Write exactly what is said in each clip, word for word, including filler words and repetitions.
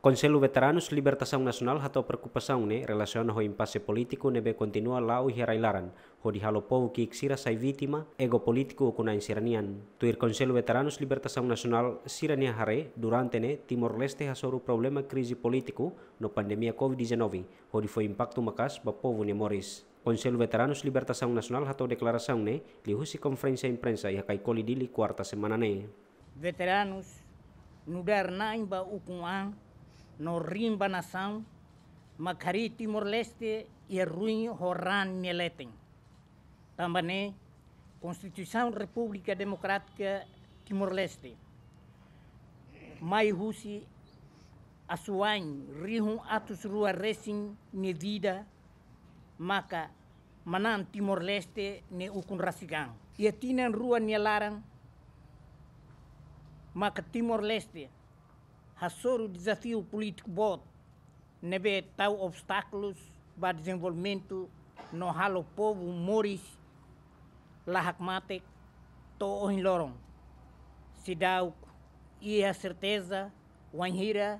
Konsellu Veteranus Libertasaun Nasionál hato'o preokupasaun ne'e relasiona ho impase polítiku ne'ebé kontinua la'o iha rai-laran, hodi halo povu ki'ik sira sai vítima ego polítiku ukun-na'in sira-nian. Tuir Konsellu Veteranus Libertasaun Nasionál sira-nia haree, durante ne'e Timor-Leste hasoru problema krize polítiku no pandemia covid dezanove, hodi fó impaktu maka'as ba povu nia moris. Konsellu Veteranus Libertasaun Nasionál hato'o deklarasaun ne'e liuhusi konferénsia imprensa iha Kaikoli, Dili, kuarta semana ne'e. Veteranus nu'udar na'in ba ukun-an no riin ba nasaun, mak harii Timor-Leste iha ruin ho raan nia leten. Tanba ne'e, Konstituisaun Repúblika Demokrátika Timor-Leste mai husi asuwa'in rihun atus rua resin nia vida, maka manán Timor-Leste nia ukun rasik an. Iha tinan rua nia laran, maka Timor-Leste hasoru dezafiu polítiku boot ne'ebé tau obstákulus ba dezenvolvimentu no halo povu moris la hakmatek to'o ohin loron. Seidauk iha serteza wainhira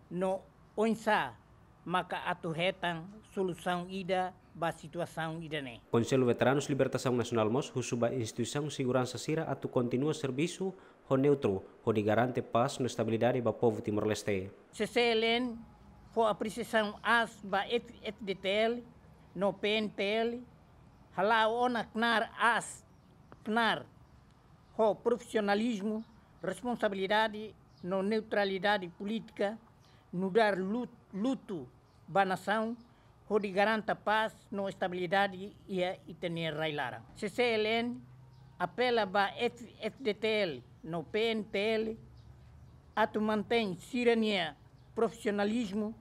no oinsá maka atu hetan solusaun ida ba situasaun ida-ne'e. Konsellu Veteranus Libertasaun Nasionál mós husu ba instituisaun seguransa sira atu kontinua servisu ho neutru, hodi garante pás no estabilidade ba povu Timor-Leste. C C L N fó apresiasaun aas ba F-, F D T L no P N T L, hala'o ona knaar aas, knaar ho profisionalizmu, responsabilidade no neutralidade polítika, nu'udar lu-, lutu ba nasaun, hodi garanta pás no estabilidade iha ita-nia rai-laran. C C L N apela ba F-, F D T L no P N T L atu mantein sira-nia profisionalizmu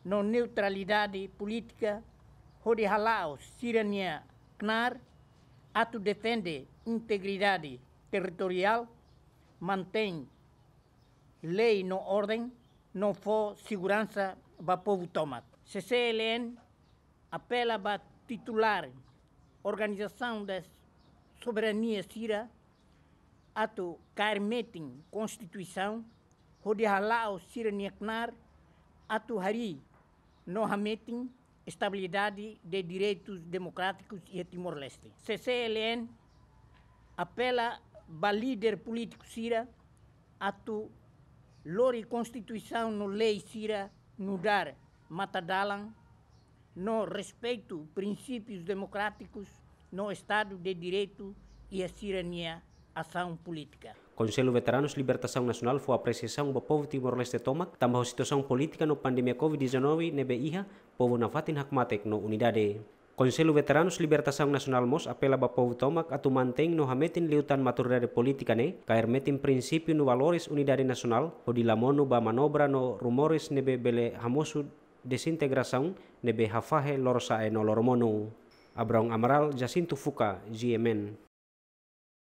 no neutralidade polítika, hodi hala'o sira-nia knaar atu defende integridade territoriál, mantein lei no orden, no fó seguransa ba povu tomak. C C L N apela ba titulár organizasaun da soberania sira atu kaer metin Konstituisaun, hodi hala'o sira-nia knaar atu harii no hametin estabilidade de direitus demokrátikus iha Timor-Leste. C C L N apela ba líder polítiku sira atu lori Konstituisaun no lei sira nu'udar matadalan no respeitu prinsípius demokrátikus no Estadu de Direitu iha sira-nia asaun polítika. Konsellu Veteranus Libertasaun Nasionál fó apresiasaun ba povu Timor-Leste tomak, tanba ho situasaun polítika no pandemia covid dezanove ne'ebé iha, povu nafatin hakmatek no unidade. Konsellu Veteranus Libertasaun Nasionál mós apela ba povu tomak atu mantein no hametin liután maturidade polítika ne'e, kaer metin prinsípiu no valores unidade nasionál, hodi la monu ba manobra no rumores ne'ebé bele hamosu dezintegrasaun ne'ebé hafahe lorosa'e no loromonu. Abraão Amaral, Jacinto Fuca, G M N.